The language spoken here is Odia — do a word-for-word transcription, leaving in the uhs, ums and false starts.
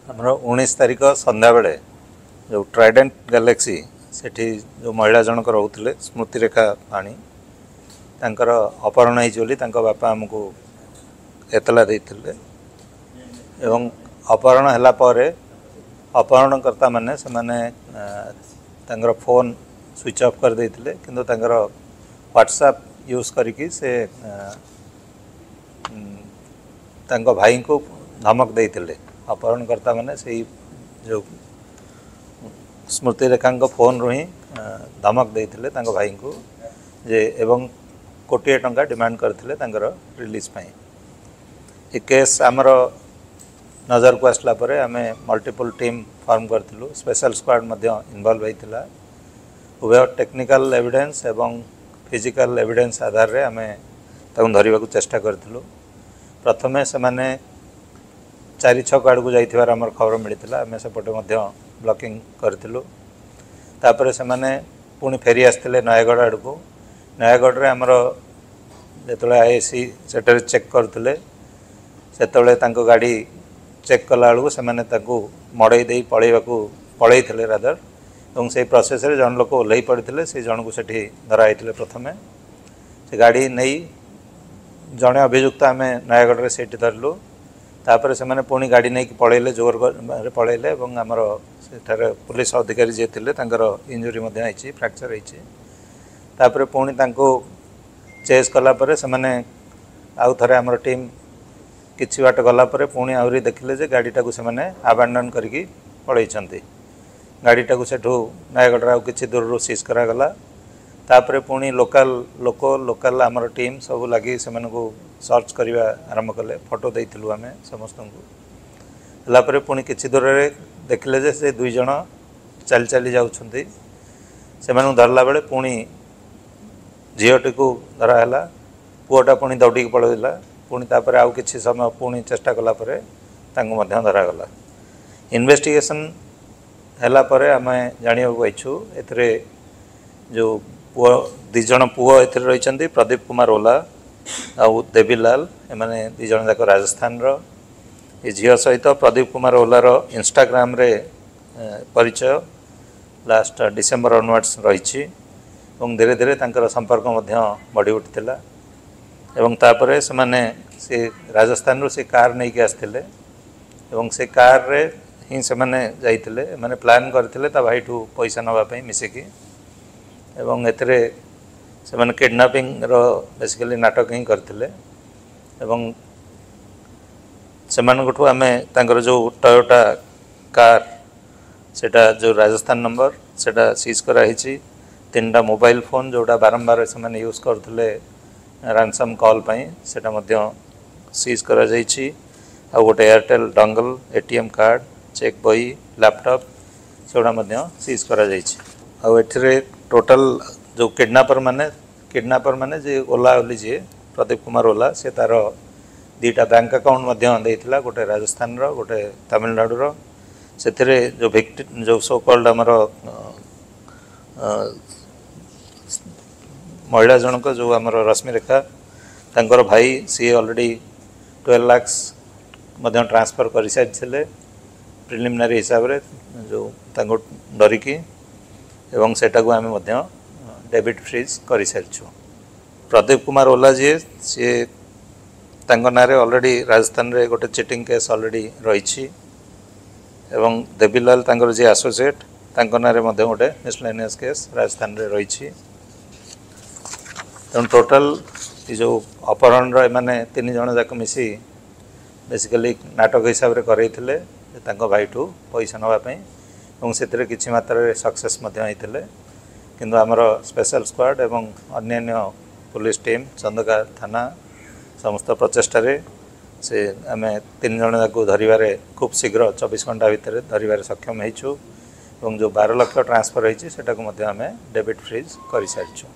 ଆମର ଉଣେଇଶ ତାରିଖ ସନ୍ଧ୍ୟାବେଳେ ଯେଉଁ ଟ୍ରାଇଡେଣ୍ଟ ଗ୍ୟାଲେକ୍ସି, ସେଠି ଯେଉଁ ମହିଳା ଜଣକ ରହୁଥିଲେ, ସ୍ମୃତିରେଖା ପାଣି, ତାଙ୍କର ଅପହରଣ ହେଇଛି ବୋଲି ତାଙ୍କ ବାପା ଆମକୁ ଏତଲା ଦେଇଥିଲେ। ଏବଂ ଅପହରଣ ହେଲା ପରେ ଅପହରଣକର୍ତ୍ତାମାନେ ସେମାନେ ତାଙ୍କର ଫୋନ୍ ସୁଇଚ୍ ଅଫ୍ କରିଦେଇଥିଲେ, କିନ୍ତୁ ତାଙ୍କର ହ୍ୱାଟ୍ସଆପ୍ ୟୁଜ୍ କରିକି ସେ ତାଙ୍କ ଭାଇଙ୍କୁ ଧମକ ଦେଇଥିଲେ। ଅପହରଣକର୍ତ୍ତାମାନେ ସେଇ ଯେଉଁ ସ୍ମୃତିରେଖାଙ୍କ ଫୋନ୍ରୁ ହିଁ ଧମକ ଦେଇଥିଲେ ତାଙ୍କ ଭାଇଙ୍କୁ ଯେ, ଏବଂ କୋଟିଏ ଟଙ୍କା ଡିମାଣ୍ଡ କରିଥିଲେ ତାଙ୍କର ରିଲିଜ୍ ପାଇଁ। ଏ କେସ୍ ଆମର ନଜରକୁ ଆସିଲା ପରେ ଆମେ ମଲ୍ଟିପୁଲ୍ ଟିମ୍ ଫର୍ମ କରିଥିଲୁ, ସ୍ପେଶାଲ ସ୍କ୍ୱାଡ୍ ମଧ୍ୟ ଇନଭଲ୍ଭ ହେଇଥିଲା। ଉଭୟ ଟେକ୍ନିକାଲ ଏଭିଡେନ୍ସ ଏବଂ ଫିଜିକାଲ ଏଭିଡେନ୍ସ ଆଧାରରେ ଆମେ ତାକୁ ଧରିବାକୁ ଚେଷ୍ଟା କରିଥିଲୁ। ପ୍ରଥମେ ସେମାନେ ଚାରି ଛକ ଆଡ଼କୁ ଯାଇଥିବାର ଆମର ଖବର ମିଳିଥିଲା, ଆମେ ସେପଟେ ମଧ୍ୟ ବ୍ଲକିଂ କରିଥିଲୁ। ତାପରେ ସେମାନେ ପୁଣି ଫେରି ଆସିଥିଲେ ନୟାଗଡ଼ ଆଡ଼କୁ। ନୟାଗଡ଼ରେ ଆମର ଯେତେବେଳେ I I C ସେଠାରେ ଚେକ୍ କରୁଥିଲେ, ସେତେବେଳେ ତାଙ୍କ ଗାଡ଼ି ଚେକ୍ କଲାବେଳକୁ ସେମାନେ ତାଙ୍କୁ ମଡ଼େଇ ଦେଇ ପଳେଇବାକୁ ପଳେଇଥିଲେ ରାଦର, ଏବଂ ସେଇ ପ୍ରୋସେସ୍ରେ ଜଣେ ଲୋକ ଓହ୍ଲେଇ ପଡ଼ିଥିଲେ, ସେଇ ଜଣକୁ ସେଠି ଧରା ହେଇଥିଲେ। ପ୍ରଥମେ ସେ ଗାଡ଼ି ନେଇ ଜଣେ ଅଭିଯୁକ୍ତ ଆମେ ନୟାଗଡ଼ରେ ସେଇଠି ଧରିଲୁ। ତାପରେ ସେମାନେ ପୁଣି ଗାଡ଼ି ନେଇକି ପଳେଇଲେ, ଜୋରରେ ପଳେଇଲେ, ଏବଂ ଆମର ସେଠାରେ ପୁଲିସ ଅଧିକାରୀ ଯିଏ ଥିଲେ ତାଙ୍କର ଇଞ୍ଜୁରି ମଧ୍ୟ ହେଇଛି, ଫ୍ରାକ୍ଚର ହେଇଛି। ତାପରେ ପୁଣି ତାଙ୍କୁ ଚେସ୍ କଲା ପରେ ସେମାନେ ଆଉ ଥରେ ଆମର ଟିମ୍ କିଛି ବାଟ ଗଲା ପରେ ପୁଣି ଆହୁରି ଦେଖିଲେ ଯେ ଗାଡ଼ିଟାକୁ ସେମାନେ ଆବାଣ୍ଡନ୍ କରିକି ପଳେଇଛନ୍ତି। ଗାଡ଼ିଟାକୁ ସେଠୁ ନୟାଗଡ଼ର ଆଉ କିଛି ଦୂରରୁ ସିଜ୍ କରାଗଲା। ତାପରେ ପୁଣି ଲୋକାଲ ଲୋକ, ଲୋକାଲ ଆମର ଟିମ୍ ସବୁ ଲାଗି ସେମାନଙ୍କୁ ସର୍ଚ୍ଚ କରିବା ଆରମ୍ଭ କଲେ। ଫଟୋ ଦେଇଥିଲୁ ଆମେ ସମସ୍ତଙ୍କୁ। ହେଲା ପରେ ପୁଣି କିଛି ଦୂରରେ ଦେଖିଲେ ଯେ ସେ ଦୁଇ ଜଣ ଚାଲି ଚାଲି ଯାଉଛନ୍ତି। ସେମାନଙ୍କୁ ଧରିଲା ବେଳେ ପୁଣି ଝିଅଟିକୁ ଧରା ହେଲା, ପୁଅଟା ପୁଣି ଦୌଡ଼ିକି ପଳେଇଲା। ପୁଣି ତାପରେ ଆଉ କିଛି ସମୟ ପୁଣି ଚେଷ୍ଟା କଲା ପରେ ତାଙ୍କୁ ମଧ୍ୟ ଧରାଗଲା। ଇନଭେଷ୍ଟିଗେସନ୍ ହେଲା ପରେ ଆମେ ଜାଣିବାକୁ ପାଇଛୁ ଏଥିରେ ଯେଉଁ ପୁଅ, ଦୁଇ ଜଣ ପୁଅ ଏଥିରେ ରହିଛନ୍ତି, ପ୍ରଦୀପ କୁମାର ଓଲା ଆଉ ଦେବୀଲାଲ, ଏମାନେ ଦୁଇ ଜଣ ଯାକ ରାଜସ୍ଥାନର। ଏ ଝିଅ ସହିତ ପ୍ରଦୀପ କୁମାର ଓଲାର ଇନଷ୍ଟାଗ୍ରାମରେ ପରିଚୟ ଲାଷ୍ଟ ଡିସେମ୍ବର ଅନୱାର୍ଡ଼ସ୍ ରହିଛି, ଏବଂ ଧୀରେ ଧୀରେ ତାଙ୍କର ସମ୍ପର୍କ ମଧ୍ୟ ବଢ଼ି ଉଠିଥିଲା। ଏବଂ ତାପରେ ସେମାନେ ସେ ରାଜସ୍ଥାନରୁ ସେ କାର୍ ନେଇକି ଆସିଥିଲେ, ଏବଂ ସେ କାର୍ରେ ହିଁ ସେମାନେ ଯାଇଥିଲେ। ଏମାନେ ପ୍ଲାନ୍ କରିଥିଲେ ତା ଭାଇଠୁ ପଇସା ନେବା ପାଇଁ ମିଶିକି, ଏବଂ ଏଥିରେ ସେମାନେ କିଡ଼ନାପିଂର ବେସିକାଲି ନାଟକ ହିଁ କରିଥିଲେ। ଏବଂ ସେମାନଙ୍କଠୁ ଆମେ ତାଙ୍କର ଯେଉଁ ଟୟୋଟା କାର୍, ସେଇଟା ଯେଉଁ ରାଜସ୍ଥାନ ନମ୍ବର, ସେଇଟା ସିଜ୍ କରାହେଇଛି। ତିନିଟା ମୋବାଇଲ ଫୋନ୍ ଯେଉଁଟା ବାରମ୍ବାର ସେମାନେ ୟୁଜ୍ କରୁଥିଲେ ରାନସମ୍ କଲ୍ ପାଇଁ, ସେଇଟା ମଧ୍ୟ ସିଜ୍ କରାଯାଇଛି। ଆଉ ଗୋଟେ ଏୟାରଟେଲ୍ ଡଙ୍ଗଲ, ଏ ଟି ଏମ୍ କାର୍ଡ଼, ଚେକ୍ ବହି, ଲ୍ୟାପଟପ୍, ସେଗୁଡ଼ା ମଧ୍ୟ ସିଜ୍ କରାଯାଇଛି। ଆଉ ଏଥିରେ ଟୋଟାଲ୍ ଯେଉଁ କିଡ଼ନାପର ମାନେ କିଡ଼ନାପର ମାନେ ଯିଏ ଓଲା ବୋଲି, ଯିଏ ପ୍ରଦୀପ କୁମାର ଓଲା, ସେ ତା'ର ଦୁଇଟା ବ୍ୟାଙ୍କ ଆକାଉଣ୍ଟ ମଧ୍ୟ ଦେଇଥିଲା, ଗୋଟେ ରାଜସ୍ଥାନର, ଗୋଟେ ତାମିଲନାଡ଼ୁର। ସେଥିରେ ଯେଉଁ ଭିକ୍ଟି, ଯେଉଁ ସୋ କଲ୍ଡ ଆମର ମହିଳା ଜଣକ, ଯେଉଁ ଆମର ରଶ୍ମିରେଖା, ତାଙ୍କର ଭାଇ ସିଏ ଅଲରେଡ଼ି ଟୁଏଲ୍ଭ ଲାକ୍ସ ମଧ୍ୟ ଟ୍ରାନ୍ସଫର୍ କରିସାରିଥିଲେ ପ୍ରିଲିମିନାରୀ ହିସାବରେ, ଯେଉଁ ତାଙ୍କୁ ଡରିକି, ଏବଂ ସେଟାକୁ ଆମେ ମଧ୍ୟ ଡେବିଟ୍ ଫ୍ରିଜ୍ କରିସାରିଛୁ। ପ୍ରଦୀପ କୁମାର ଓଲା ଯିଏ, ସିଏ ତାଙ୍କ ନାଁରେ ଅଲରେଡ଼ି ରାଜସ୍ଥାନରେ ଗୋଟେ ଚିଟିଂ କେସ୍ ଅଲରେଡ଼ି ରହିଛି, ଏବଂ ଦେବୀଲାଲ ତାଙ୍କର ଯିଏ ଆସୋସିଏଟ୍, ତାଙ୍କ ନାଁରେ ମଧ୍ୟ ଗୋଟେ ମିସଲେନିୟସ୍ କେସ୍ ରାଜସ୍ଥାନରେ ରହିଛି। ତେଣୁ ଟୋଟାଲ୍ ଏ ଯେଉଁ ଅପହରଣର ଏମାନେ ତିନି ଜଣ ଯାକ ମିଶି ବେସିକାଲି ନାଟକ ହିସାବରେ କରେଇଥିଲେ ତାଙ୍କ ଭାଇଠୁ ପଇସା ନେବା ପାଇଁ, ଏବଂ ସେଥିରେ କିଛି ମାତ୍ରାରେ ସକ୍ସେସ୍ ମଧ୍ୟ ହେଇଥିଲେ। କିନ୍ତୁ ଆମର ସ୍ପେଶାଲ ସ୍କ୍ୱାଡ୍ ଏବଂ ଅନ୍ୟାନ୍ୟ ପୁଲିସ ଟିମ୍, ଚନ୍ଦକା ଥାନା ସମସ୍ତ ପ୍ରଚେଷ୍ଟାରେ ସେ ଆମେ ତିନି ଜଣ ଯାକୁ ଧରିବାରେ ଖୁବ୍ ଶୀଘ୍ର ଚବିଶ ଘଣ୍ଟା ଭିତରେ ଧରିବାରେ ସକ୍ଷମ ହେଇଛୁ, ଏବଂ ଯେଉଁ ବାର ଲକ୍ଷ ଟ୍ରାନ୍ସଫର୍ ହେଇଛି ସେଟାକୁ ମଧ୍ୟ ଆମେ ଡେବିଟ୍ ଫ୍ରିଜ୍ କରିସାରିଛୁ।